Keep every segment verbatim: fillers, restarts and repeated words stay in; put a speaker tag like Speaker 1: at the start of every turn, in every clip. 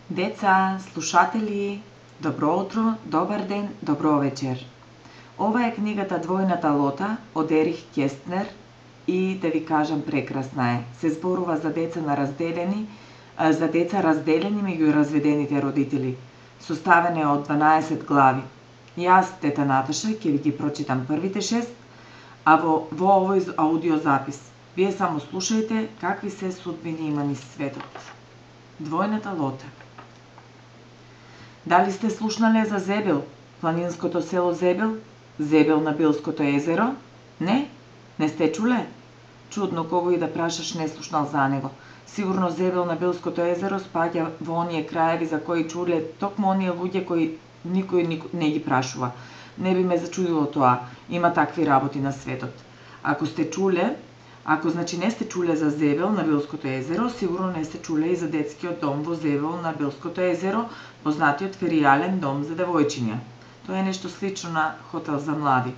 Speaker 1: Деца, слушатели, добро утро, добар ден, добро вечер. Ова е книгата Двојната лота од Ерих Кестнер и да ви кажам прекрасна е. Се зборува за деца на разделени, за деца разделени меѓу разведените родители. Составена е од дванаесет глави. Јас, тета Наташа, ќе ви ги прочитам првите шест, а во, во овој аудиозапис. Вие само слушајте какви се судбини има низ светот. Двојната лота. Дали сте слушнале за Зебел, планинското село Зебел, Зебел на Билското езеро? Не? Не сте чуле? Чудно, кого и да прашаш не слушнал за него. Сигурно Зебел на Билското езеро спаѓа во оние краеви за кои чуле токму оние луѓе кои никој не ги прашува. Не би ме зачудило тоа, има такви работи на светот. Ако сте чуле, ако значи не сте чуле за Зебел на Билското езеро, сигурно не сте чуле и за детскиот дом во Зебел на Билското езеро, познатиот феријален дом за девојчиња. Тоа е нешто слично на хотел за млади.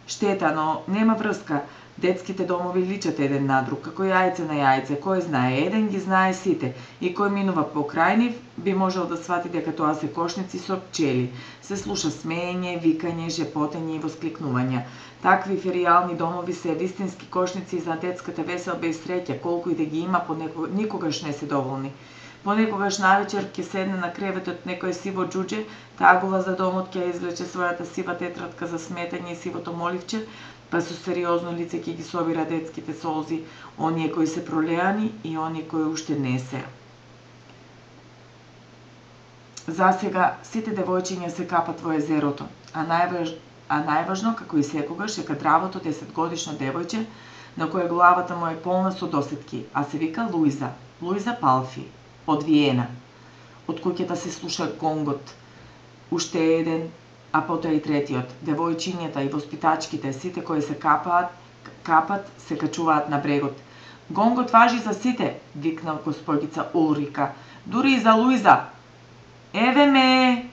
Speaker 1: Штета, но нема врска. Детските домови личат еден на друг, како јајце на јајце. Кој знае еден, ги знае сите. И кој минува покрај нив, би можел да свати дека тоа се кошници со пчели. Се слуша смеење, викање, жепотење и воскликнувања. Такви феријални домови се вистински кошници за детската веселба и среќа, колку и да ги има, понекогаш никогаш не се доволни. Понекогаш навечер ќе седне на креветот некој сиво џуџе, тагува за домот ќе извлече својата сива тетрадка за сметање и сивото моливче, па со сериозно лице ќе ги собира детските солзи, оние кои се пролеани и оние кои уште не се. Засега сите девојчиња се капат во езерото, а најваж... а најважно, како и секогаш, е кадравото десетгодишно девојче, на кое главата му е полна со досетки, а се вика Луиза, Луиза Палфи, од Виена. Од куќата се слуша гонгот. Уште еден, а потоа и третиот. Девојчињата и воспитачките, сите кои се капаат, капат, се качуваат на брегот. Гонгот важи за сите, викна госпогица Улрика. Дури и за Луиза. Еве ме!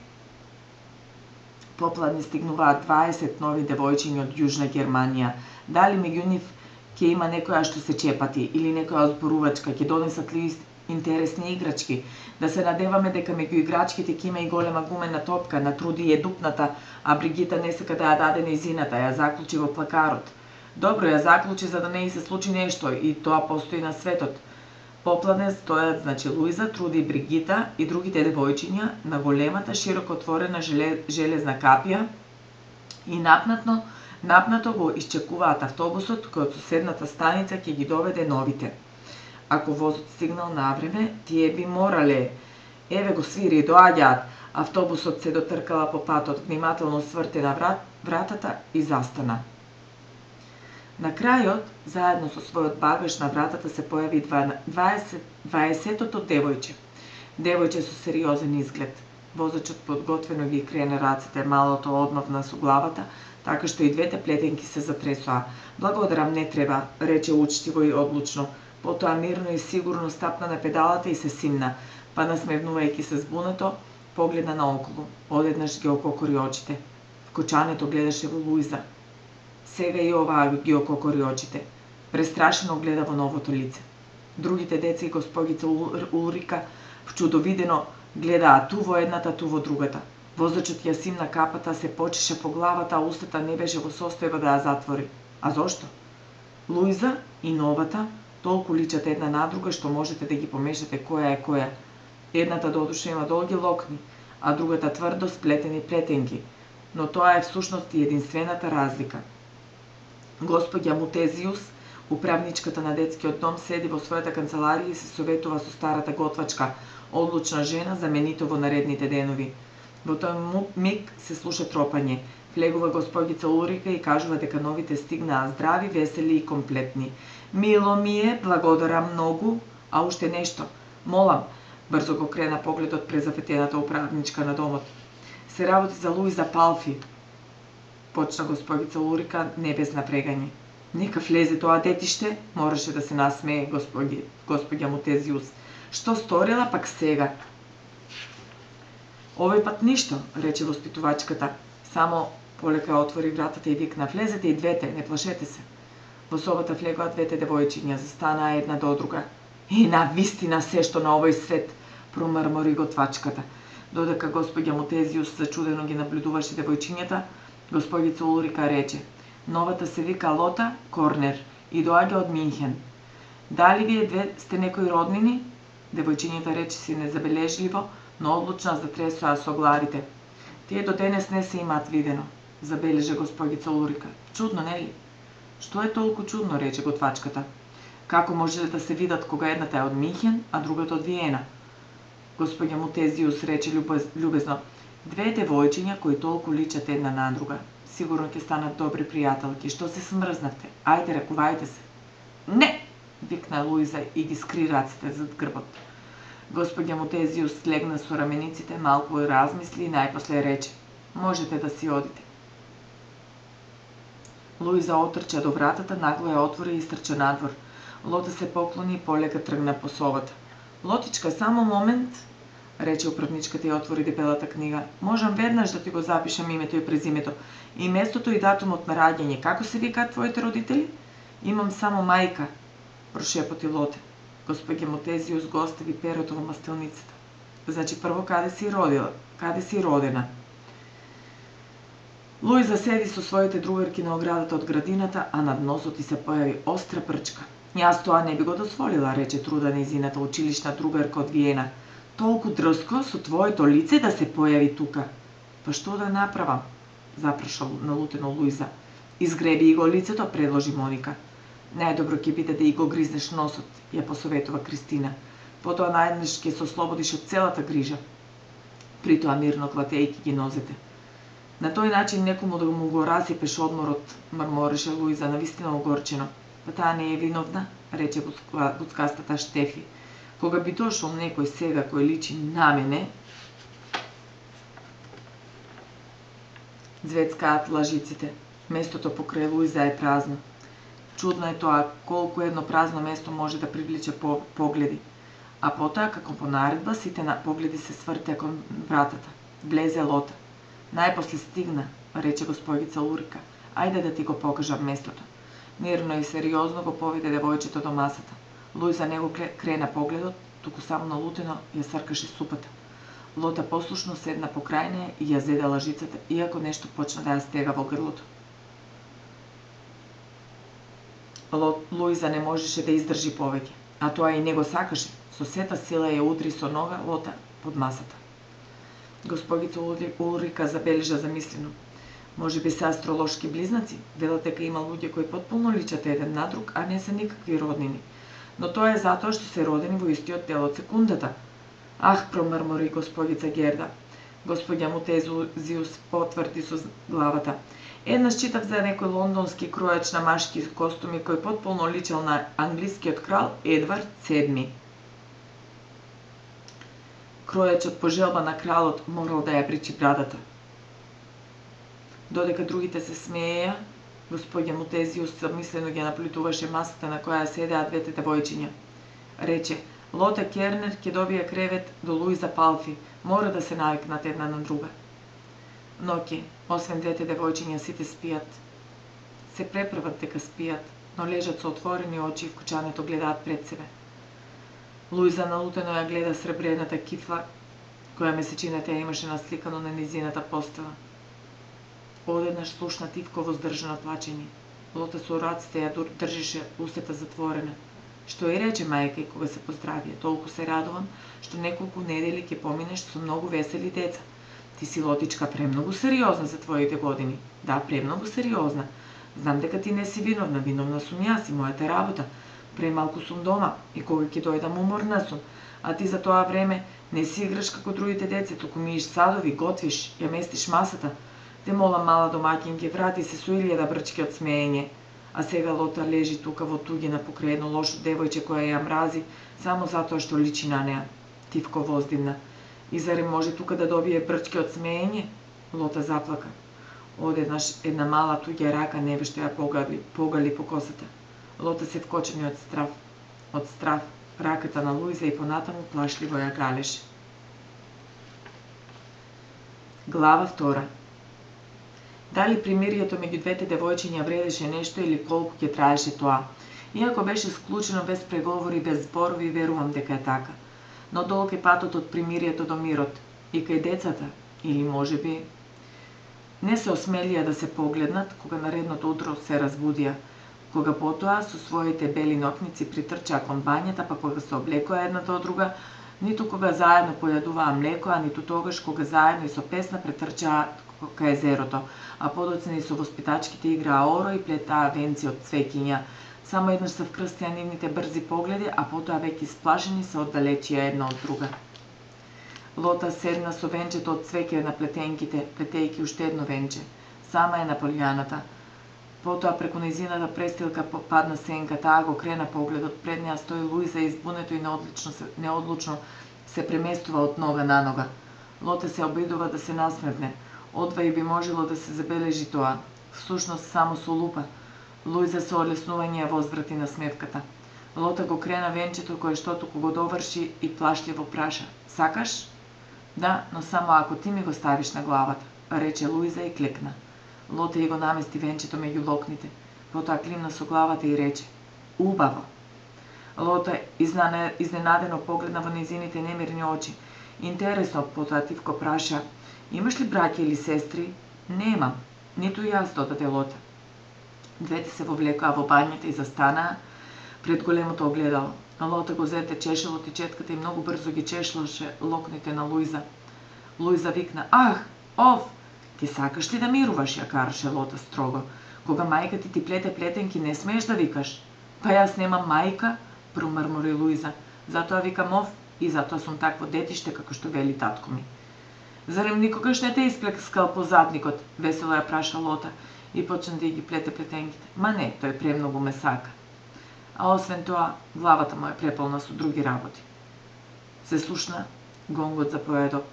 Speaker 1: Попладни стигнуваат дваесет нови девојчиња од Јужна Германија. Дали меѓу нив ќе има некоја што се чепати или некоја зборувачка, ќе донесат ли интересни играчки, да се надеваме дека меѓу играчките ќе има и голема гумена топка, на Труди е дупната, а Бригита не сака да ја даде нејзината, ја заклучи во плакарот. Добро, ја заклучи за да не ѝ се случи нешто и тоа постои на светот. Попладне стојат, значи Луиза, Труди и Бригита и другите девојчиња на големата широко отворена железна капија и напнатно, напнато го исчекуваат автобусот кој од соседната станица ќе ги доведе новите. Ако возот стигнал на време, тие би морале. Еве го свири, доаѓаат. Автобусот се дотркала по патот, внимателно сврте на врат, вратата и застана. На крајот, заедно со својот багаж на вратата се појави дваесетото девојче. Девојче со сериозен изглед. Возачот подготвено ги крене рацете, малото одмавна со главата, така што и двете плетенки се затресоа. Благодарам, не треба, рече учтиво и одлучно. Потоа мирно и сигурно стапна на педалата и се симна, па насмевнувајќи се збунето, погледна наоколу. Одеднаш ги ококори очите. Вкочането гледаше во Луиза. Сега и оваа ги ококори очите. Престрашено гледа во новото лице. Другите деца и госпогица Улрика вчудовидено гледаа ту во едната, ту во другата. Возачот ја симна капата, се почеше по главата, а устата не беше во состојба да ја затвори. А зошто? Луиза и новата толку личат една на друга што можете да ги помешате која е која. Едната додуша има долги локни, а другата тврдо сплетени плетенки, но тоа е всушност и единствената разлика. Господја Мутезиус, управничката на детскиот дом, седи во својата канцеларија и се советува со старата готвачка, одлучна жена, заменито во наредните денови. Во тој миг се слуша тропање. Влегува госпогица Улрика и кажува дека новите стигнаа здрави, весели и комплетни. Мило ми е, благодарам многу, а уште нешто. Молам, брзо го крена погледот презафетената управничка на домот. Се работи за Луиза Палфи, почна госпогица Улрика не без напрегање. Нека влезе тоа детиште, мораше да се насмее господи, господја Мутезиус. Што сторила пак сега? Овој пат ништо, рече воспитувачката. Само полека отвори вратата и викна: влезете и двете, не плашете се. Во собата влегоа двете девојчиња, застанаа една до друга. И на вистина се што на овој свет, промрмори готвачката. Додека господја Мотезиус зачудено ги наблюдуваше девојчињата, господица Улрика рече: "Новата се вика Лота Корнер и доаѓа од Минхен. Дали вие две сте некои роднини?" Девојчињата рече си незабележливо, но одлучно затресоа со главите. "Тие до денес не се имаат видено," забележа господица Улрика. "Чудно, нели?" "Што е толку чудно?" рече готвачката. "Како може да се видат кога едната е од Минхен, а другата од Виена?" Господја Мотезиус рече љубезно: "Две девојчиња кои толку личат една на друга. Сигурно ќе станат добри пријателки. Што се смрзнавте? Ајде, ракувајте се." "Не!" викна Луиза и ги скри раците зад грбот. Господја Мотезиус слегна со рамениците, малку размисли и најпосле рече: "Можете да си одите." Луиза отрча до вратата, нагло ја отвори и истрча надвор. Лота се поклони и полека тргна по собата. "Лотичка, само момент," рече управничката и отвори дебелата книга. "Можам веднаш да ти го запишам името и презимето, и местото и датумот на раѓање. Како се викаат твоите родители?" "Имам само мајка," прошепоти Лоте. Господја Мотезиус го остави перото во мастилницата. "Значи прво каде си родила? Каде си родена?" Луиза седи со своите другарки на оградата од градината, а над носот и се појави остра прчка. "Јас тоа не би го дозволила," рече Труда, нејзината училишна другарка од Виена. "Толку дрско со твоето лице да се појави тука." "Па што да направам?" запраша налутено Луиза. "Изгреби и го лицето," предложи Моника. "Најдобро ќе биде да и го гризнеш носот," ја посоветува Кристина. "Потоа најднеш ќе се ослободиш од целата грижа." Притоа мирно клатејќи ги нозете. "На тој начин некому да му го расипеш одморот," мрмореше Луиза, навистина огорчено. "Па таа не е виновна," рече буцкастата Штефи. "Кога би дошол некој сега кој личи на мене..." Звецкаат лажиците. Местото покрај Луиза е празно. Чудно е тоа колку едно празно место може да привлече погледи. А потоа, како по наредба, сите на погледи се свртеа кон вратата. Влезе Лота. "Најпосле стигна," рече господица Улрика. "Ајде да ти го покажам местото." Мирно и сериозно го поведе девојчето до масата. Луиза не го крена погледот, туку само налутено ја сркаше супата. Лота послушно седна покрај неја и ја зеде лажицата, иако нешто почна да ја стега во грлото. Луиза не можеше да издржи повеќе, а тоа и не го сакаше. Со сета сила ја удри со нога Лота под масата. Господица Улрика забележа замислено: "Може би се астролошки близнаци, велат дека има луѓе кои потполно личат еден на друг, а не се никакви роднини. Но тоа е затоа што се родени во истиот дел од секундата." "Ах," промрмори господица Герда. Господја Мотезиус потврди со главата: "Еднаш читав за некој лондонски кројач на машки костуми кој потполно личел на англискиот крал Едвард седми. Кројачот по желба на кралот морал да ја причи брадата." Додека другите се смееја, господја Мотезиус замислено ги наплютуваше масата на која седеа двете девојчиња. Рече: "Лота Кернер ќе добие кревет до Луиза Палфи, мора да се навикнат една на друга." Ноќе, освен двете девојчиња, сите спијат. Се преправат дека спијат, но лежат со отворени очи и вкучането гледаат пред себе. Луиза налутено ја гледа сребрената кифла, која месечината ја имаше насликано на низината постава. Одеднаш слушна тивко воздржано плачење. Лота со раците ја држише устата затворена. "Што и рече мајка и кога се поздравија, толку се радувам што неколку недели ќе поминеш со многу весели деца. Ти си, Лотичка, премногу сериозна за твоите години." "Да, премногу сериозна. Знам дека ти не си виновна, виновна сум јас и мојата работа. Премалку сум дома и кога ќе дојдам уморна сум, а ти за тоа време не си играш како другите деца, туку миеш садови, готвиш, ја местиш масата. Те молам, мала домаќинке, врати се со илјада брчки од смеење. А сега Лота лежи тука во туѓина покрај едно лошо девојче која ја мрази само затоа што личи на неа." Тивко воздивна: "И зарем може тука да добие брчки од смеење?" Лота заплака. Одеднаш една мала туѓа рака невешто ја погали, погали по косата. Лота се вкочени од страв. Од страв, раката на Луиза и понатаму плашливо ја галеше. Глава втора. Дали примирието меѓу двете девојчиња вредеше нешто или колку ќе траеше тоа? Иако беше склучено без преговори, без зборови, верувам дека е така. но долг е патот од примирието до мирот. И кај децата, или можеби, не се осмелија да се погледнат кога наредното утро се разбудија, кога потоа со своите бели нокници притрчаа кон бањата, па кога се облекоа едната од друга, ниту кога заедно појадуваа млеко, а ниту тогаш кога заедно и со песна претрчаа кај езерото, а подоцна и со воспитачките играа оро и плетаа венци од цвеќиња. Само еднаш се вкрстија нивните брзи погледи, а потоа веќе исплашени се оддалечија една од друга. Лота седна со венчето од цвеќе на плетенките, плетејќи уште едно венче. Сама е на полјаната. Потоа преку нејзината престилка падна сенка, таа го крена погледот, пред неа стои Луиза и избунето и неодлучно се, неодлучно се преместува од нога на нога. Лота се обидува да се насмевне, одва и би можело да се забележи тоа. Всушност само со лупа. Луиза со олеснување ја возврати на смевката. Лота го крена венчето кое што туку го доврши и плашливо праша: "Сакаш?" "Да, но само ако ти ми го ставиш на главата," рече Луиза и клекна. Лота и го намести венчето меѓу локните, потоа климна со главата и рече: "Убаво." Лота изненадено погледна во нејзините немирни очи. Интересно, потоа тивко праша: "Имаш ли браќа или сестри?" "Немам, ниту јас," додаде Лота. Двете се вовлекоа во бањата и застанаа пред големото огледало. Лота го зете чешелот и четката и многу брзо ги чешлаше локните на Луиза. Луиза викна: "Ах, ов, ти сакаш ли да мируваш?" ја караше Лота строго. "Кога мајка ти ти плете плетенки, не смееш да викаш." "Па јас немам мајка," промрмори Луиза. "Затоа викам ов и затоа сум такво детиште како што вели татко ми." "Зарем никогаш не те исплескал по задникот?" весело ја праша Лота и почна да ги плете плетенките. "Ма не, тој премногу ме сака. А освен тоа, главата му е преполна со други работи." Се слушна гонгот за поедок.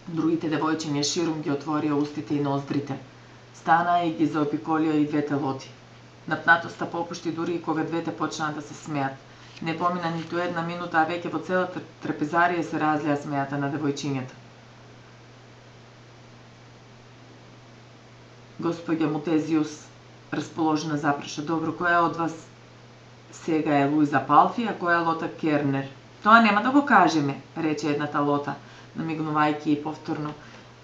Speaker 1: Другите девојчиња ширум ги отворија устите и ноздрите. Станаа и ги заобиколија и двете Лоти. Напнатоста попушти дури и кога двете почнаа да се смеат. Не помина ниту една минута, а веќе во целата трапезарија се разлеа смејата на девојчињата. Господја Мутезиус, расположена, запраша: "Добро, која од вас сега е Луиза Палфи, а која Лота Кернер?" "Тоа нема да го кажеме," рече едната Лота, намигнувајќи и повторно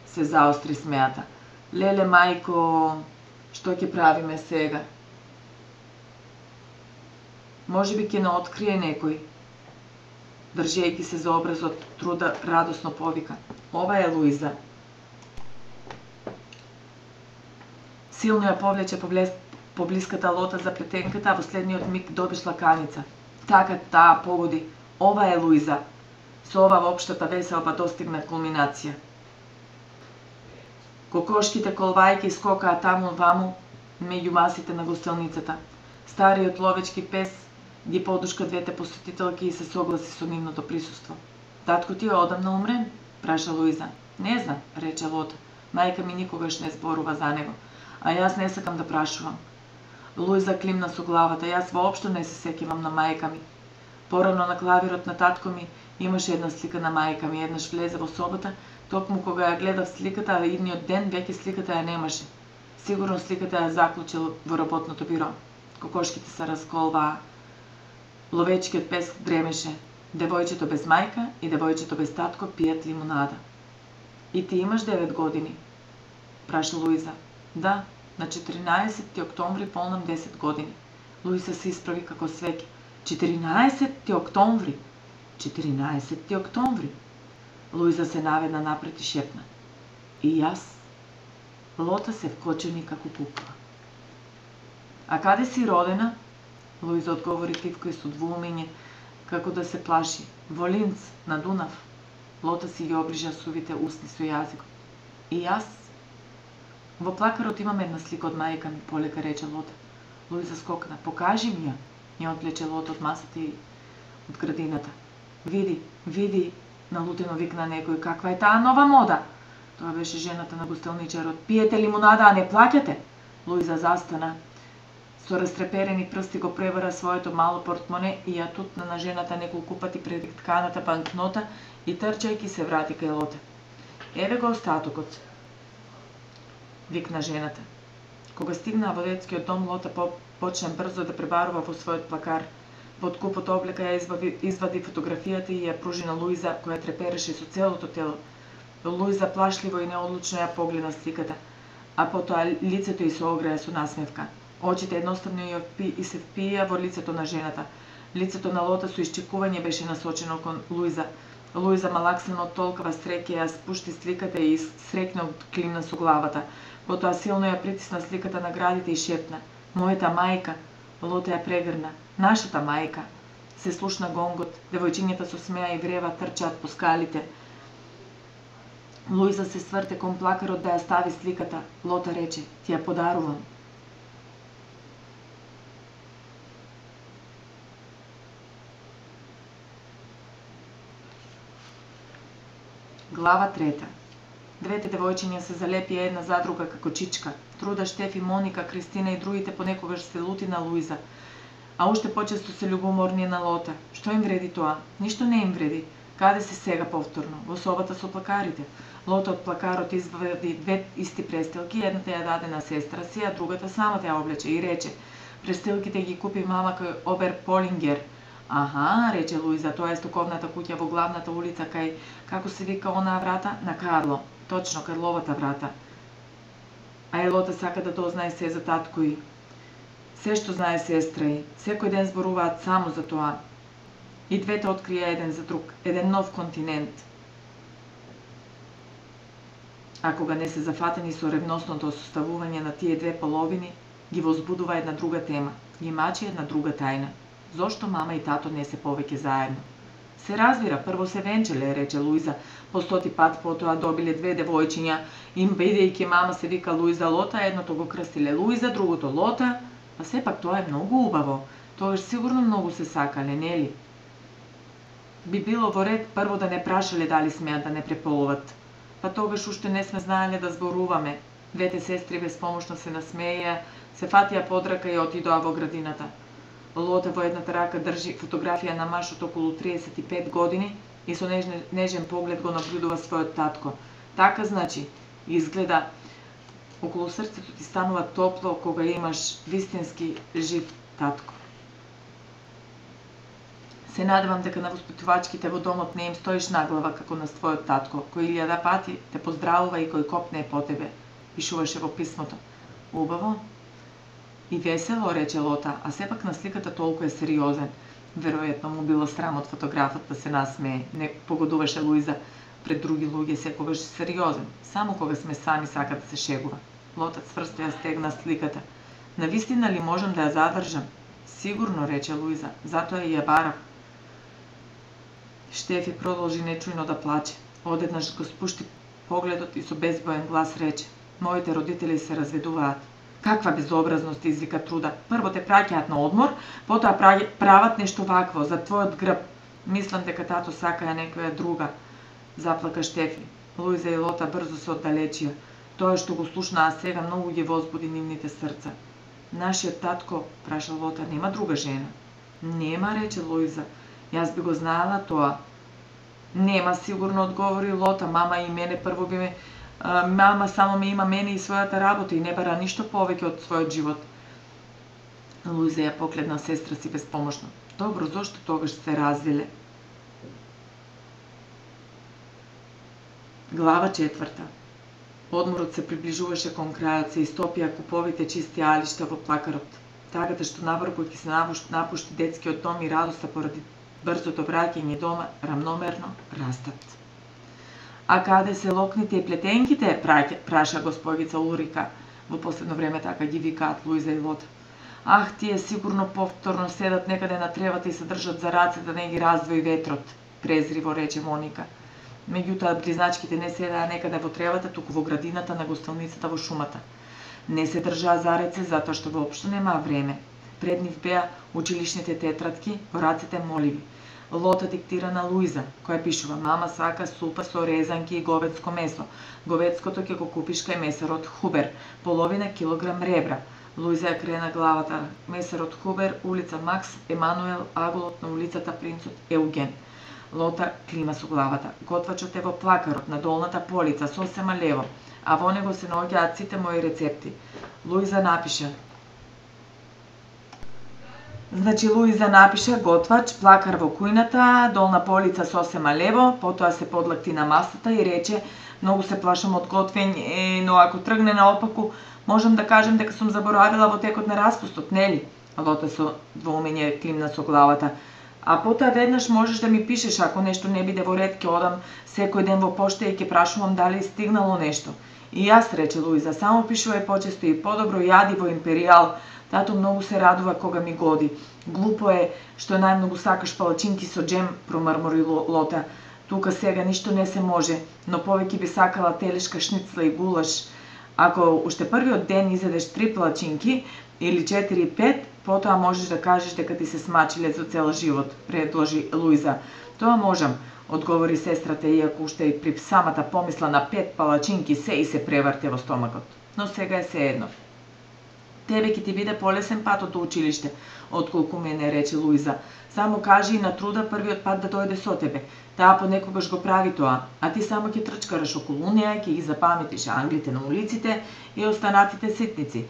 Speaker 1: се заостри смејата. "Леле, мајко, што ќе правиме сега?" "Можеби ќе не открие некој." Држејќи се за образот, Труда радосно повика: "Ова е Луиза." Силно ја повлече поблиската Лота за плетенката, а во следниот миг добиш лаканица. Така, таа погоди: "Ова е Луиза." Со ова воопштата веселба достигна кулминација. Кокошките колвајки скокаа таму-ваму меѓу масите на гостилницата. Стариот ловечки пес ги подушка двете посетителки и се согласи со нивното присуство. "Татко ти е одамна умрен?" праша Луиза. "Не знам," рече Лота. "Мајка ми никогаш не зборува за него, а јас не сакам да прашувам." Луиза климна со главата: "Јас воопшто не се сеќавам на мајка ми. Порано на клавирот на татко ми имаше една слика на мајка ми. Еднаш влезе во собата, токму кога ја гледав сликата, а идниот ден веќе сликата ја немаше. Сигурно сликата ја заклучил во работното биро." Кокошките се расколваа. Ловечкиот пес дремеше. Девојчето без мајка и девојчето без татко пијат лимунада. "И ти имаш девет години?" праша Луиза. "Да, на четиринаесетти октомври полнам десет години." Луиза се исправи како свеќе. четиринаесетти октомври? четиринаесетти октомври? Луиза се наведна напред и шепна: "И јас." Лота се вкочени како кукла. "А каде си родена?" Луиза одговори тивко и со двоумење, како да се плаши. "Во Линц, на Дунав." Лота си ги оближа сувите усни со јазикот. "И јас?" "Во плакарот имам една слика од мајка ми," полека рече Лота. Луиза скокна. "Покажи ми ја." Ја отвлече Лота од масата и од градината. "Види, види," налутено викна некој, "каква е таа нова мода?" Тоа беше жената на гостилничарот. "Пиете лимунада, а не плаќате?" Луиза застана. Со растреперени прсти го превара своето мало портмоне и ја тутна на жената неколку пати пред тканата банкнота и трчајќи се врати кај Лота. "Еве го остатокот," викна жената. Кога стигнаа во детскиот дом, Лота почна брзо да пребарува во својот плакар. Во купот облека ја избави, извади фотографијата и ја пружи на Луиза, која трепереше со целото тело. Луиза плашливо и неодлучно ја погледна сликата, а потоа лицето ѝ се огреа со насмевка. Очите едноставно ја впи и се впија во лицето на жената. Лицето на Лота со исчекување беше насочено кон Луиза. Луиза малаксано од толкова среќа ја спушти сликата и срекно климна со главата. Потоа силно ја притисна сликата на градите и шепна: "Мојата мајка." Лота ја прегрна: "Нашата мајка." Се слушна гонгот, девојчињата со смеа и врева трчаат по скалите. Луиза се сврте кон плакарот да ја стави сликата. Лота рече: "Ти ја подарувам." Глава трета. Двете девојчиња се залепија една за друга како чичка. Труда, Штефи, Моника, Кристина и другите понекогаш се лути на Луиза, а уште почесто се љубоморни на Лота. Што им вреди тоа? Ништо не им вреди. Каде се сега повторно? Во собата со плакарите. Лота од плакарот извади две исти престилки, едната ја даде на сестра си, а другата самата ја облече и рече: "Престилките ги купи мама кај Обер Полингер." "Аха," рече Луиза, "тоа е стоковната куќа во главната улица кај, како се вика онаа врата, на Карло." "Точно, Карловата врата." А и Лота сака да дознае се за татко и. Се што знае сестра и. Секој ден зборуваат само за тоа. И двете открија еден за друг, еден нов континент. А кога не се зафатени со ревностното составување на тие две половини, ги возбудува една друга тема, ги мачи една друга тајна. Зошто мама и тато не се повеќе заедно? Се разбира, прво се венчеле, рече Луиза, по стоти пат потоа добиле две девојчиња, им бидејќи мама се вика Луиза Лота, едното го крстиле Луиза, другото Лота, а сепак тоа е многу убаво, тогаш сигурно многу се сакале, нели? Би било во ред прво да не прашале дали смеат да не преполуват. Па тогаш уште не сме знаеле да зборуваме. Двете сестри безпомошно се насмеја, се фатија под рака и отидоа во градината. Лота во едната рака држи фотографија на маж од околу триесет и пет години и со нежен, нежен поглед го наблюдува својот татко. Така значи, изгледа, околу срцето ти станува топло кога имаш вистински жив татко. Се надевам дека на воспитувачките во домот не им стоиш наглава како на својот татко, кој илјада пати те поздравува и кој копне по тебе, пишуваше во писмото. Убаво и весело, рече Лота, а сепак на сликата толку е сериозен. Веројатно му било срам од фотографот да се насмее. Не погодуваше Луиза пред други луѓе секогаш сериозен, само кога сме сами сака да се шегува. Лота цврсто ја стегна сликата. Навистина ли можам да ја задржам? Сигурно, рече Луиза, затоа и ја барав. Штефи продолжи нечујно да плаче. Одеднаш го спушти погледот и со безбоен глас рече: "Моите родители се разведуваат." "Каква безобразност," извика Труда. "Прво те праќаат на одмор, потоа прават нешто вакво за твојот грб. Мислам дека тато сакаја некоја друга." Заплака Штефи. Луиза и Лота брзо се оддалечија. Тоа што го слушнаа сега многу ги возбуди нивните срца. "Нашиот татко," праша Лота, "нема друга жена?" "Нема," рече Луиза. "Јас би го знаела тоа." "Нема, сигурно," одговори Лота. "Мама и мене прво би ме... А, мама само ме има мене и својата работа и не бара ништо повеќе од својот живот." Луиза ја погледна сестра си безпомошно. "Добро, зошто тогаш се развиле?" Глава четврта. Одморот се приближуваше кон крајот, се истопија куповите чисти алишта во плакарот. Тагата што наврку ќе се напушти детскиот дом и радоста поради брзото враќање дома рамномерно растат. "А каде се локните и плетенките?" праша госпогица Улрика. Во последно време така ги викаат Луиза и Лота. "Ах, тие сигурно повторно седат некаде на тревата и се држат за раце да не ги раздвои ветрот," презриво рече Моника. Меѓутоа, близначките не седаа некаде во тревата, туку во градината на гостилницата во шумата. Не се држаа за раце затоа што воопшто немаа време. Пред нив беа училишните тетрадки, во рацете моливи. Лота диктира на Луиза, која пишува: "Мама сака супа со резанки и говедско месо. Говедското ќе го купиш кај месарот Хубер, половина килограм ребра." Луиза ја крена главата. Месарот Хубер, улица Макс Емануел, аголот на улицата Принцот Еуген. Лота клима со главата. Готвачот е во плакарот на долната полица, сосема лево, а во него се наоѓаат сите мои рецепти. Луиза напиша: Значи Луиза напиша готвач, плакар во кујната, долна полица сосема лево, потоа се подлакти на масата и рече: многу се плашам од готвење, но ако тргне наопаку, можам да кажем дека сум заборавила во текот на распустот, нели? Лота со двоумење климна со главата. А потоа веднаш можеш да ми пишеш ако нешто не биде во ред, ќе одам секој ден во пошта и ќе прашувам дали стигнало нешто. И јас, рече Луиза, само пишувај почесто и подобро јади во Империјал. Тато многу се радува кога ми годи. Глупо е што најмногу сакаш палачинки со джем, промрмори Лота. Тука сега ништо не се може, но повеќе би сакала телешка шницла и гулаш. Ако уште првиот ден изедеш три палачинки или четири пет, потоа можеш да кажеш дека ти се смачиле за цел живот, предложи Луиза. Тоа можам, одговори сестрата, иако уште и при самата помисла на пет палачинки се и се преврте во стомакот. Но сега е се едно. Тебе ќе ти биде полесен патот до училиште, отколку мене, рече Луиза. Само кажи и на Труда првиот пат да дојде со тебе. Таа понекогаш го прави тоа, а ти само ќе трчкараш околу неа, ќе ги запаметиш англите на улиците и останатите ситници.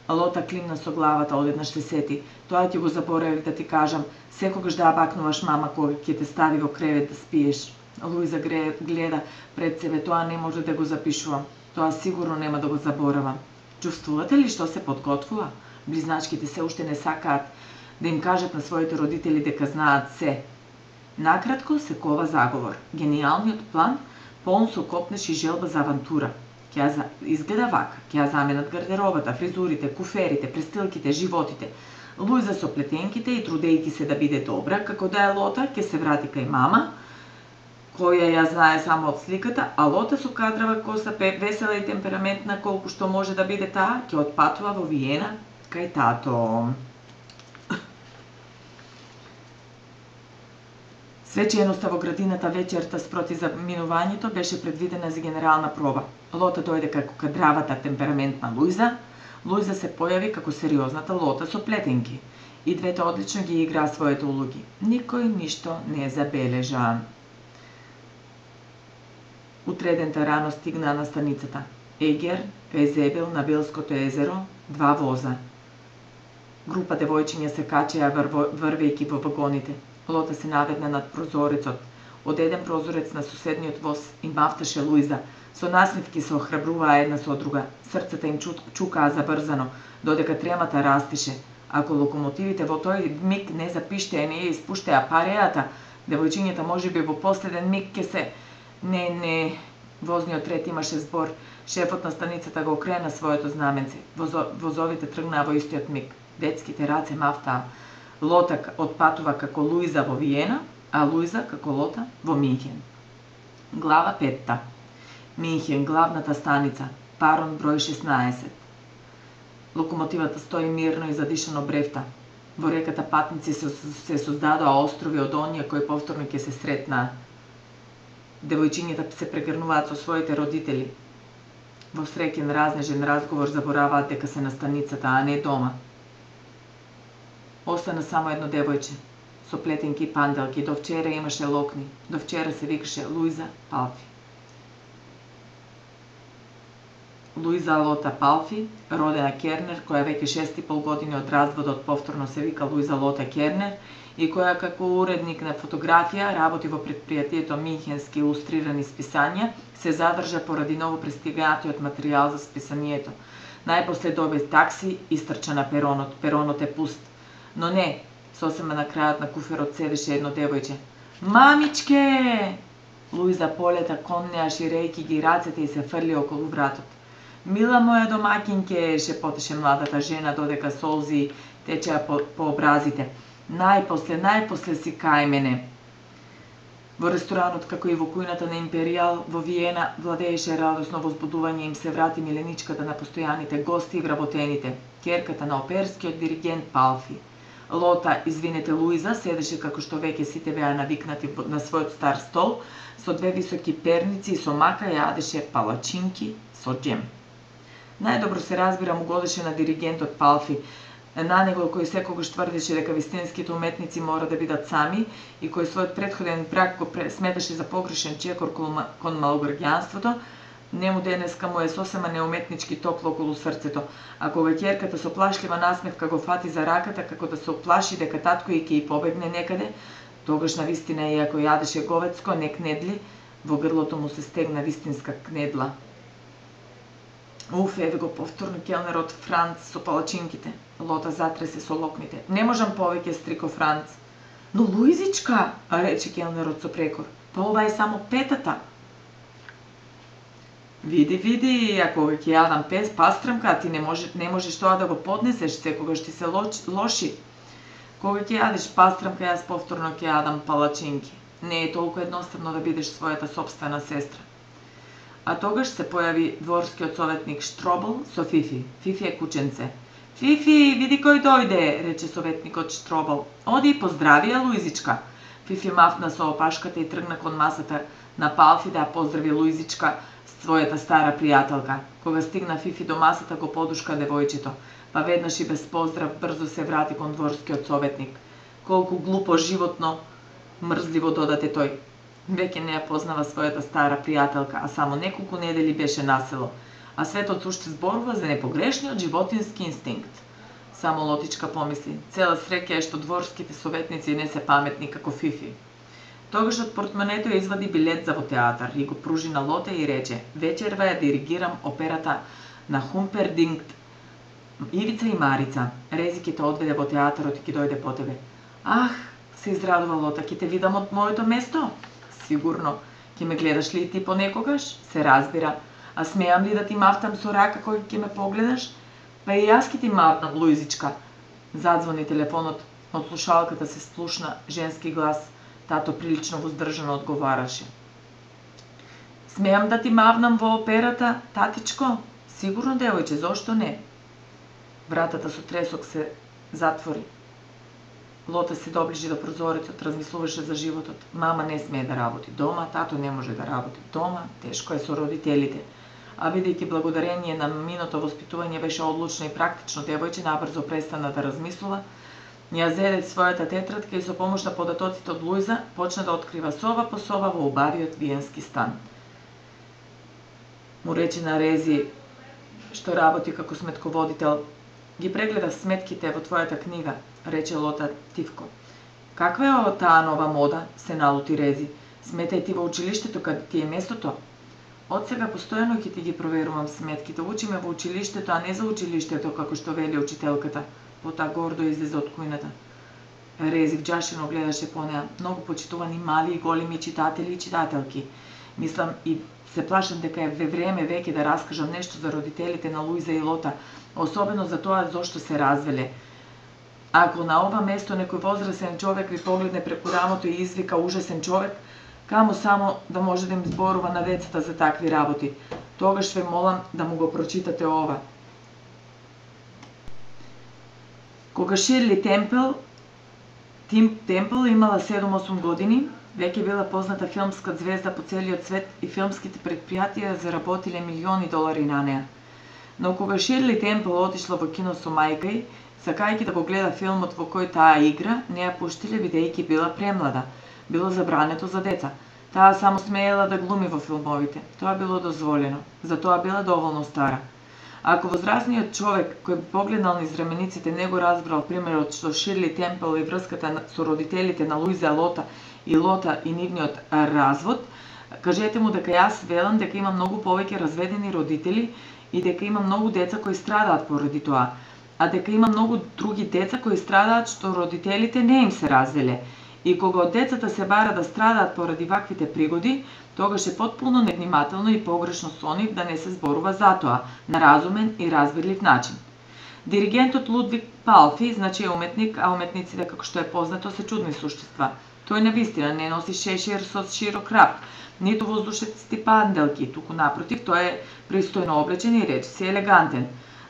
Speaker 1: Лота климна со главата, одеднаш се сети. Тоа ќе го заборавив да ти кажам, секогаш да бакнуваш мама кога ќе те стави во кревет да спиеш. Луиза гледа пред себе, тоа не може да го запишувам. Тоа сигурно нема да го заборавам. Чувствувате ли што се подготвува? Близначките се уште не сакаат да им кажат на своите родители дека знаат се. Накратко се кова заговор. Гениалниот план, полн со копнеш и желба за авантура. Ќе за... изгледа вака, ќе заменат гардеробата, фризурите, куферите, престилките, животите. Луиза со плетенките и трудејќи се да биде добра, како да е Лота, ќе се врати кај мама, која ја знае само од сликата, а Лота со кадрава коса, весела и темпераментна колку што може да биде таа, ќе отпатува во Виена кај тато. Свеченоста во градината вечерта спроти заминувањето беше предвидена за генерална проба. Лота дојде како кадравата темпераментна Луиза. Луиза се појави како сериозната Лота со плетенки. И двете одлично ги играа своите улоги. Никој ништо не забележа. Утредента рано стигнаа на станицата. Егер, кај Зебел на Белското езеро, два воза. Група девојчиња се качеа врвејќи во вагоните. Лота се наведна над прозорецот. Од еден прозорец на соседниот воз им мафташе Луиза. Со насмивки се охрабруваа една со друга. Срцата им чукаа забрзано, додека тремата растише. Ако локомотивите во тој миг не запиштеа и не ја испуштеа парејата, девојчињата можеби во последен миг ќе се... Не, не... Возниот ред имаше збор. Шефот на станицата го окрена своето знаменце. Возо... Возовите тргнаа во истиот миг. Детските раце мафтаа. Лота отпатува како Луиза во Виена, а Луиза како Лота во Минхен. Глава петта. Минхен, главната станица. Парон број шеснаесет. Локомотивата стои мирно и задишано бревта. Во реката патници се, се создадоа острови од оние кои повторно ќе се сретнаа. Девојчињата се прегрнуваат со своите родители. Во среќен разнежен разговор забораваат дека се на станицата, а не дома. Остана само едно девојче, со плетенки и панделки. До вчера имаше локни. До вчера се викаше Луиза Палфи. Луиза Лота Палфи, родена Кернер, која веќе шест и пол години од разводот повторно се вика Луиза Лота Кернер и која како уредник на фотографија работи во предпријатието Минхенски илустрирани списања, се задржа поради ново пристигнатиот материјал за списанието. Најпосле доби такси и стрча на перонот. Перонот е пуст. Но не, сосема на крајот на куферот седеше едно девојче. Мамичке! Луиза полета кон неа ширејќи ги рацете и се фрли околу вратот. Мила моја домакинке, шепотеше младата жена додека солзи течеа по, по образите. Најпосле, најпосле си кај мене. Во ресторанот, како и во кујната на Империјал, во Виена, владееше радосно возбудување, им се врати миленичката на постојаните гости и вработените, керката на оперскиот диригент Палфи. Лота, извинете Луиза, седеше како што веќе сите беа навикнати на својот стар стол, со две високи перници и со мака јадеше палачинки со џем. Најдобро се разбира му годеше на диригентот Палфи, на него кој секогаш тврдеше дека вистинските уметници мора да бидат сами и кој својот претходен брак го сметаше за погрешен чекор кон малограѓанството, Нему денеска му е сосема неуметнички топло околу срцето, а кога ќерката со плашлива насмевка го фати за раката како да се оплаши дека татко и ќе и побегне некаде, тогаш на вистина, иако јадеше говецко, не кнедли, во грлото му се стегна вистинска кнедла. Уф, еве го повторно келнерот Франц со палачинките. Лота затресе со локните. Не можам повеќе, стрико Франц. Но Луизичка, рече келнерот со прекор, па ова е само петата. Види, види, ако ќе јадам пес пастрамка, ти не, може, не можеш тоа да го поднесеш, секогаш ти се лоши. Кога ќе јадеш пастрамка, јас повторно ќе јадам палачинки. Не е толку едноставно да бидеш својата собствена сестра. А тогаш се појави дворскиот советник Штробл со Фифи. Фифи е кученце. Фифи, види кој дојде, рече советникот Штробл. Оди и поздрави ја Луизичка. Фифи мафна со опашката и тргна кон масата на Палфи да ја поздрави Луизичка, својата стара пријателка. Кога стигна Фифи до масата, го подушка девојчето, па веднаш и без поздрав брзо се врати кон дворскиот советник. Колку глупо, животно, мрзливо додаде тој. Веќе не ја познава својата стара пријателка, а само неколку недели беше на село, а светот уште зборува за непогрешниот животински инстинкт. Само Лотичка помисли, цела среќа е што дворските советници не се паметни како Фифи. Тогаш од портмонето ја извади билет за во театар и го пружи на Лоте и рече: вечерва ја диригирам операта на Хумпердинкт, Ивица и Марица. Рези ќе те одведе во театарот и ќе дојде по тебе. Ах, се израдува Лота, ќе те видам од моето место? Сигурно. Ќе ме гледаш ли и ти понекогаш? Се разбира. А смеам ли да ти мавтам со рака кој ќе ме погледаш? Па и јас ќе ти мавтам, Луизичка. Задзвони телефонот, од слушалката се сплушна женски глас. Тато прилично воздржано одговараше. Смеам да ти мавнам во операта, татичко? Сигурно, девојче, зошто не? Вратата со тресок се затвори. Лота се доближи до прозорецот, размислуваше за животот. Мама не смее да работи дома, тато не може да работи дома, тешко е со родителите. А бидејќи благодарение на миното воспитување беше одлучно и практично, девојче набрзо престана да размислува, ја зеде својата тетрадка и со помош на податоците од Луиза почна да открива соба по соба во убавиот виенски стан. Му рече на Рези, што работи како сметководител: ги прегледа сметките во твојата книга, рече Лота тивко. Каква е ова таа нова мода? Се налути Рези. Сметај ти во училиштето каде ти е местото. Од сега постојано ќе ти ги проверувам сметките. Учиме во училиштето, а не за училиштето, како што вели учителката. Потоа гордо излезе од кујната. Рези вџашено гледаше по неа. Многу почитувани мали и големи читатели и читателки. Мислам и се плашам дека е време веќе да раскажам нешто за родителите на Луиза и Лота, особено за тоа зошто се развеле. Ако на ова место некој возрасен човек ви погледне преку рамото и извика ужасен човек, каму само да може да им зборува на децата за такви работи. Тогаш ве молам да му го прочитате ова. Кога Ширли Темпл, Тим Темпл имала седум-осум години, веќе била позната филмска звезда по целиот свет и филмските предпријатија заработиле милиони долари на неа. Но кога Ширли Темпл отишла во кино со мајка ѝ, сакајќи да го гледа филмот во кој таа игра, не ја пуштиле бидејќи била премлада. Било забрането за деца. Таа само смеела да глуми во филмовите. Тоа било дозволено. Затоа била доволно стара. Ако возрастниот човек кој би погледнал низ рамениците не го разбрал примерот што Ширли Темпл и врската со родителите на Луиза Лота и Лота и нивниот развод, кажете му дека јас велам дека има многу повеќе разведени родители и дека има многу деца кои страдаат поради тоа, а дека има многу други деца кои страдаат што родителите не им се развеле. И кога од децата се бара да страдаат поради ваквите пригоди, тогаш е потполно невнимателно и погрешно со нив да не се зборува за тоа, на разумен и разбирлив начин. Диригентот Лудвиг Палфи, значи е уметник, а уметниците, како што е познато, се чудни суштества. Тој навистина не носи шешир со широк рап, ниту воздушести панделки, туку напротив, тој е пристојно облечен и речиси елегантен.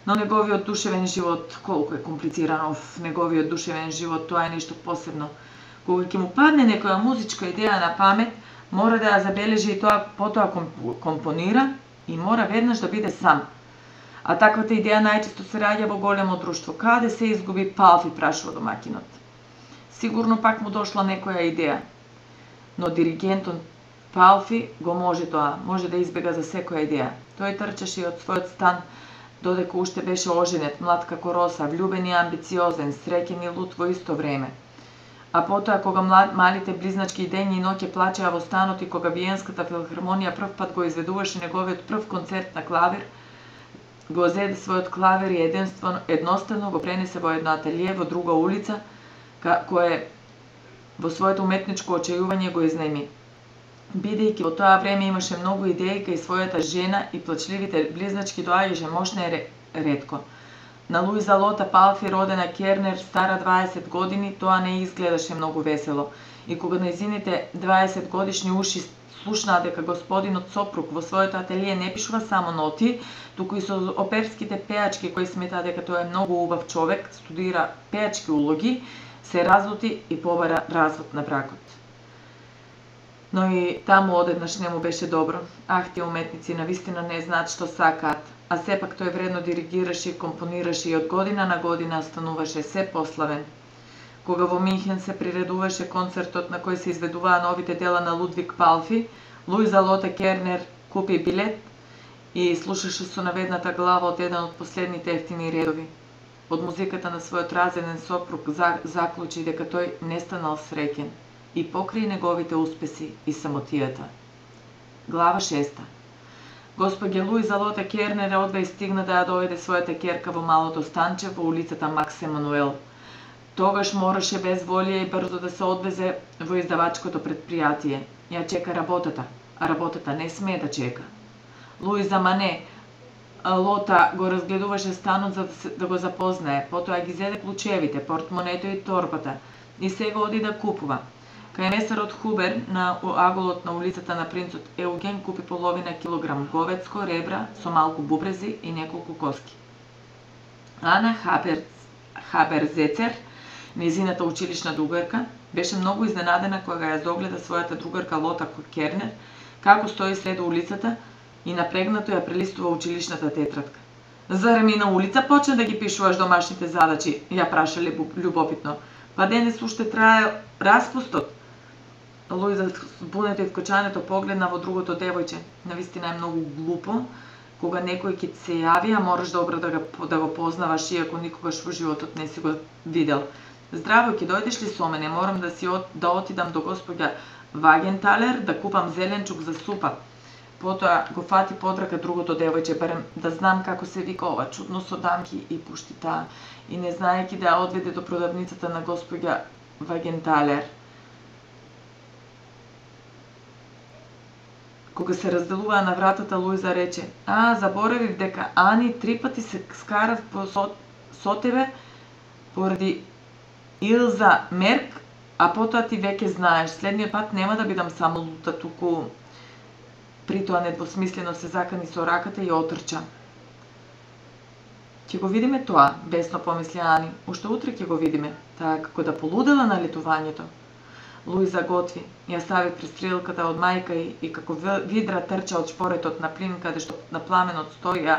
Speaker 1: Но неговиот душевен живот, колку е комплициран, оф, неговиот душевен живот, тоа е нешто посебно. Кога ќе му падне некоја музичка идеја на памет, мора да ја забележи и тоа, потоа компонира и мора веднаш да биде сам. А таквата идеја најчесто се раѓа во големо друштво. Каде се изгуби Палфи, прашува домаќинот. Сигурно пак му дошла некоја идеја. Но диригентот Палфи го може тоа, може да избега за секоја идеја. Тој трчаше од својот стан, додека уште беше оженет, млад како роса, влюбен и амбициозен, среќен и луд во исто време. А потоа, кога млад, малите близначки дењи и ноќе плачеа во станот и кога Виенската филхармонија прв пат го изведуваше неговиот прв концерт на клавир, го зеде својот клавир и едноставно го пренесе во едно ателие во друга улица, кое во своето уметничко очајување го изнајми. Бидејќи во тоа време имаше многу идеи кај својата жена и плачливите близначки доаѓаше мошна и ретко. На Луиза Лота Палфи, родена Кернер, стара дваесет години, тоа не изгледаше многу весело. И кога нејзините дваесет годишни уши слушнаа дека господинот сопруг во своето ателие не пишува само ноти, туку и со оперските пеачки кои сметаа дека тоа е многу убав човек, студира пеачки улоги, се разлути и побара развод на бракот. Но и таму одеднаш не му беше добро. Ах, тие уметници навистина не знаат што сакаат, а сепак тој вредно диригираше и компонираше и од година на година стануваше се пославен. Кога во Минхен се приредуваше концертот на кој се изведуваа новите дела на Лудвиг Палфи, Луиза Лота Кернер купи билет и слушаше со наведната глава од еден од последните ефтини редови. Од музиката на својот разеден сопруг заклучи дека тој не станал среќен и покрај неговите успеси и самотијата. Глава шеста. Госпоѓа Луиза Лота Кернер одва и стигна да ја доведе својата ќерка во малото станче во улицата Макс Емануел. Тогаш мораше без волја и брзо да се одвезе во издавачкото предпријатие. Ја чека работата, а работата не смее да чека. Луиза Мане Лота го разгледуваше станот за да, се, да го запознае, потоа ги зеде клучевите, портмонето и торбата и сега оди да купува. Кај месарот Хубер на аголот на улицата на принцот Еуген купи половина килограм говецко, ребра со малку бубрези и неколку коски. Ана Хабер, Хаберзецер, незината училишна другарка, беше многу изненадена кога ја загледа својата другарка Лота Кернер, како стои сред улицата и напрегнато ја прелистува училишната тетрадка. Зарем и на улица почна да ги пишуваш домашните задачи, ја праша љубопитно. Па денес уште трае распустот. Луиза збунето и вкочането погледна во другото девојче. Навистина е многу глупо, кога некој ќе се јави, а мораш добро да го, да го познаваш, иако никогаш во животот не си го видел. Здраво, ќе дојдеш ли со мене? Морам да си от, да отидам до госпоѓа Вагенталер да купам зеленчук за супа. Потоа го фати под рака другото девојче, барем да знам како се вика ова чудно со дамки и пушти таа, и не знаејќи да ја одведе до продавницата на госпоѓа Вагенталер. Кога се разделуваа на вратата, Луиза рече: "А, заборавив дека Ани три пати се скарав по со, со тебе поради Илза Мерк, а потоа ти веќе знаеш, следниот пат нема да бидам само лута, туку..." При тоа недвосмислено се закани со раката и отрча. Ќе го видиме тоа, бесно помисли Ани. Уште утре ќе го видиме, таа како да полудела на летувањето. Луиза готви, ја стави престрелката од мајка и, и како видра трча од шпоретот на плин, каде што на пламенот стоја,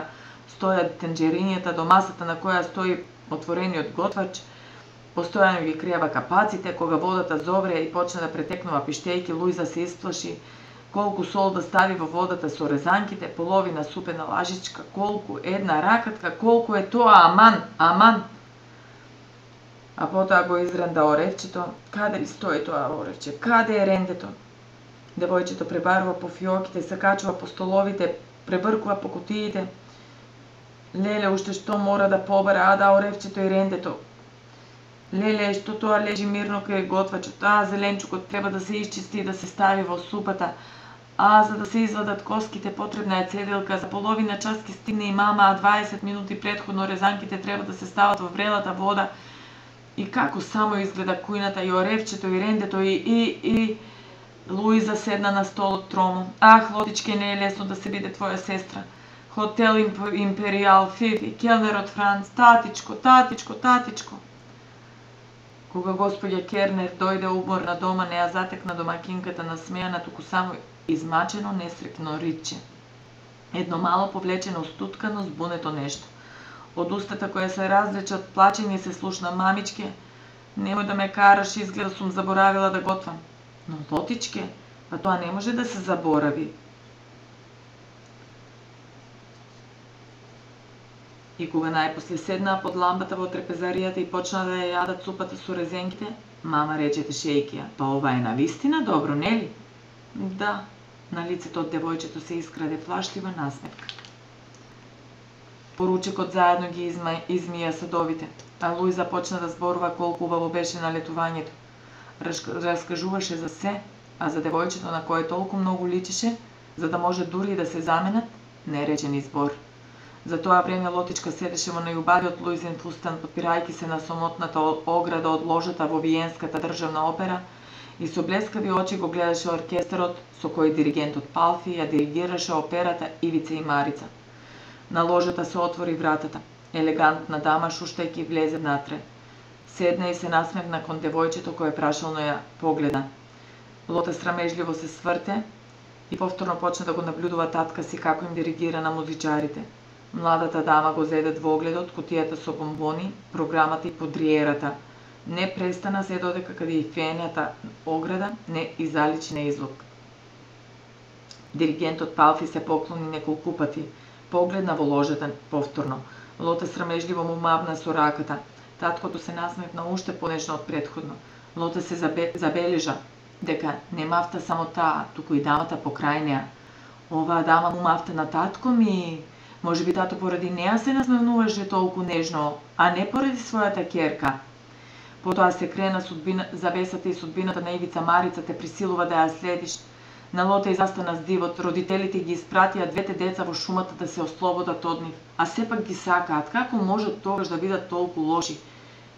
Speaker 1: стоја тенџерињата до масата на која стои отворениот готвач. Постојано ги криева капаците, кога водата зовре и почна да претекнува пиштејки, Луиза се исплаши. Колку сол да стави во водата со резанките, половина супена лажичка, колку една ракатка, колку е тоа, аман, аман. А потоа го изренда оревчето. Каде ли стои тоа оревче? Каде е рендето? Девојчето пребарува по фиоките, се качува по столовите, пребркува по кутиите. Леле, уште што мора да побара, а да оревчето и рендето. Леле, што тоа лежи мирно кај готвачот, а зеленчукот треба да се исчисти и да се стави во супата. А за да се извадат коските потребна е цеделка, за половина час ќе стигне и мама, а дваесет минути претходно резанките треба да се стават во врелата вода. И како само изгледа кујната, и оревчето, и рендето, и, и, и... Луиза седна на столот тромо. Ах, Лотичке, не е лесно да се биде твоја сестра. Хотел Империал, Фифи, келнерот Франц, татичко, татичко, татичко. Кога господја Кернер дојде уморна дома, не ја затекна домакинката насмејана, туку само измачено, несрекно риче. Едно мало повлечено, стуткано, збунето нешто. Од устата која се разлече од плачење се слушна: "Мамичке, немој да ме караш, изгледа сум заборавила да готвам." "Но Лотичке, Па тоа не може да се заборави. И кога најпосле седнаа под лампата во трпезаријата и почнаа да ја јадат супата со резенките, мама рече тешејќи ја: "Па ова е навистина добро, нели?" "Да." На лицето од девојчето се искраде флашлива насмевка. Поручикот заедно ги изма, измија садовите, а Луиза почна да зборува колку убаво беше налетувањето. Раскажуваше за се, а за девојчето на кое толку многу личеше, за да може дури и да се заменат, не рече ни збор. За тоа време Лотичка седеше во најубавиот Луизин фустан, подпирајќи се на сомотната ограда од ложата во Виенската државна опера и со блескави очи го гледаше оркестарот со кој диригентот Палфи ја диригираше операта Ивица и Марица. На ложата се отвори вратата. Елегантна дама шуштајќи влезе внатре. Седна и се насмевна кон девојчето кое прашално ја погледа. Лота срамежливо се сврте и повторно почна да го наблюдува татка си како им диригира на музичарите. Младата дама го зеде двогледот, кутијата со бомбони, програмата и подриерата. Не престана се додека каде и фењата ограда не изаличи на излог. Диригентот Палфи се поклони неколку пати. Погледна во ложата повторно. Лота срамежливо му мавна со раката. Таткото се насмевна уште понежно од претходно. Лота се забе, забележа дека не мафта само таа, туку и дамата покрај неа. Оваа дама му мафта на татко ми. Може би тато поради неа се насмевнуваше толку нежно, а не поради својата ќерка. Потоа се крена судбина, завесата и судбината на Ивица Марица те присилува да ја следиш. На Лота изастана с дивот, родителите ги испратија двете деца во шумата да се ослободат од нив, а сепак ги сакаат. Како може тогаш да бидат толку лоши?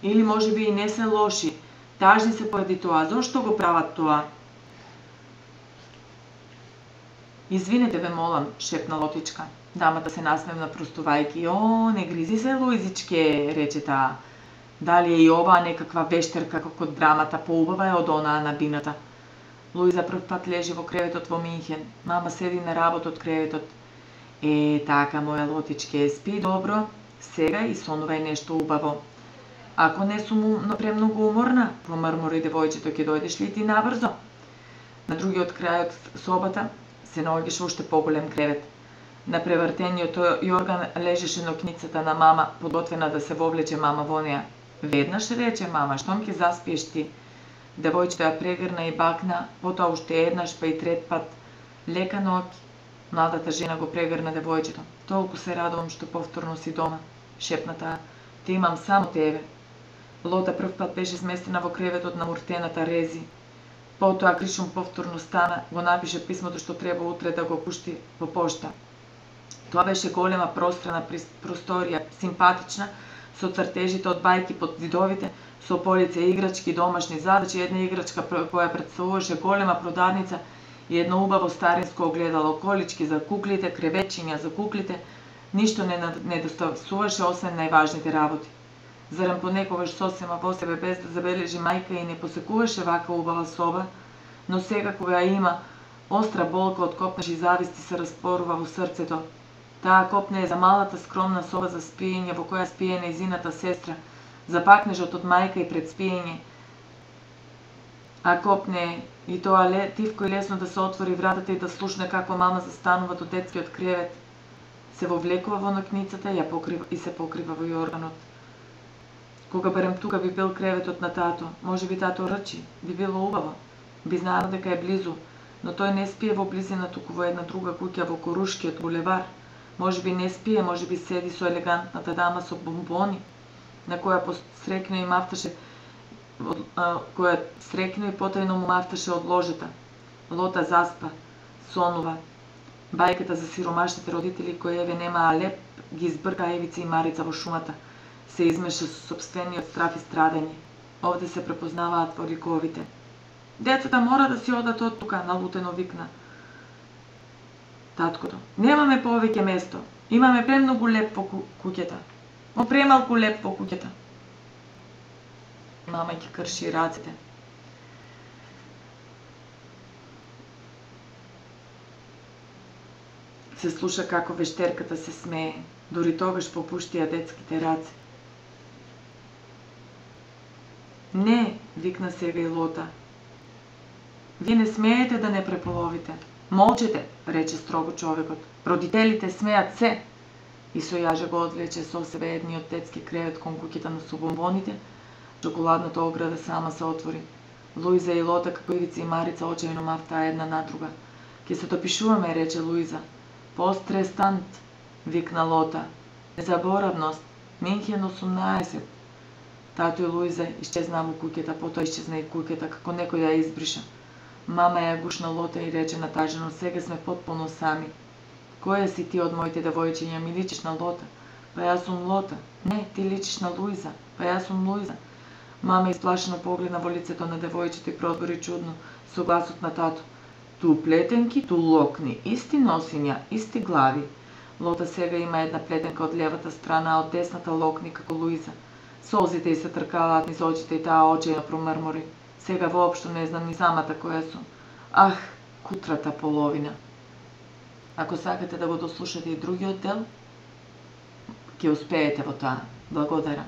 Speaker 1: Или може би и не се лоши, тажни се поради тоа. Зошто го прават тоа? "Извинете ве, молам," шепна Лотичка. Дамата се насмевна простувајќи. "О, не гризи се, Луизичке," рече таа. "Дали е и оваа некаква вештерка како од драмата, поубава е од онаа на бината." Луиза прв пат лежи во креветот во Минхен. Мама седи на работ од креветот. "Е, така, моја Лотичке, спи добро, сега и сонувај нешто убаво." "Ако не сум премногу уморна," промрмори девојчето, "ќе дојдеш ли ти набрзо?" На другиот крај од собата се наоѓаше уште поголем кревет. На превртениот јорган лежеше нокницата на мама, подготвена да се вовлече мама во неа. "Веднаш," рече мама, "штом ќе заспиеш ти." Девојчето ја прегрна и бакна, потоа уште еднаш, па и трет пат. "Лека ноќ." Младата жена го прегрна девојчето. "Толку се радувам што повторно си дома," шепна таа. "Те имам само тебе." Лота прв пат беше сместена во креветот на муртената Рези. Потоа Кришум повторно стана, го напише писмото што треба утре да го пушти во пошта. Тоа беше голема пространа просторија, симпатична, со цртежите од бајки под зидовите, со полица играчки, домашни задачи, една играчка која представуваше голема продавница и едно убаво старинско огледало, колички за куклите, креветчиња за куклите. Ништо не недостасуваше освен најважните работи. Зарем понекогаш сосема во себе без да забележи мајка и не посекуваше вака убава соба, но сега кога ја има, остра болка од копнеш и зависти се распорува во срцето. Таа копне е за малата скромна соба за спиење во која спие нејзината сестра, за пакнежот од мајка и пред спиење. А копне и тоа тивко и лесно да се отвори вратата и да слушне како мама застанува до детскиот кревет. Се вовлекува во нокницата и, ја покрива, и се покрива во јорганот. Кога барем тука би бил креветот на тато, може би тато рчи, би било убаво, би знаел дека е близу, но тој не спие во близина, туку во една друга куќа во Корушкиот булевар. Може би не спие, може би седи со елегантната дама со бомбони, на која посрекно и мафташе, која срекно и потајно му мафташе од ложата. Лота заспа, сонува. Бајката за сиромашните родители кои еве немаа леп, ги избрка Ивица и Марица во шумата. Се измеша со сопствениот страф и страдање. Овде се препознаваат во ликовите. "Децата мора да си одат од тука," налутено викна таткото. "Немаме повеќе место. Имаме премногу леп во куќата. Мо премалку леп во куќата." Мама ги крши рацете. Се слуша како вештерката се смее, дури тогаш попуштија детските раце. "Не," викна сега и Лота. Вие не смеете да не преполовите. Молчете, рече строго човекот. Родителите смеат се. И со јаже го одвлече со себе едниот детски кревет кон куќата со бомбоните. Чоколадната ограда сама се отвори. Луиза и Лота, како Ивица и Марица, очајно мавтаа една на друга. Ке се допишуваме, рече Луиза. Пострестант, викна Лота. Незаборавност, Минхен осумнаесет. Тато и Луиза исчезнаа во куќата, потоа исчезна и куќата, како некој ја избриша. Мама ја гушна Лота и рече натажено, сега сме потполно сами. Која си ти од моите девојчиња, ми личиш на Лота? Па јас сум Лота. Не, ти личиш на Луиза. Па јас сум Луиза. Мама исплашено погледна во лицето на девојчето и продбори чудно, со гласот на тато. Ту плетенки, ту локни, исти носиња, исти глави. Лота сега има една плетенка од левата страна, а од десната локни како Луиза. Солзите й се тркалаат низ очите и таа очајно промрмори. Сега воопшто не знам ни самата која сум. Ах, кутрата половина. Ако сакате да го дослушате и другиот дел, ќе успеете во тоа. Благодарам.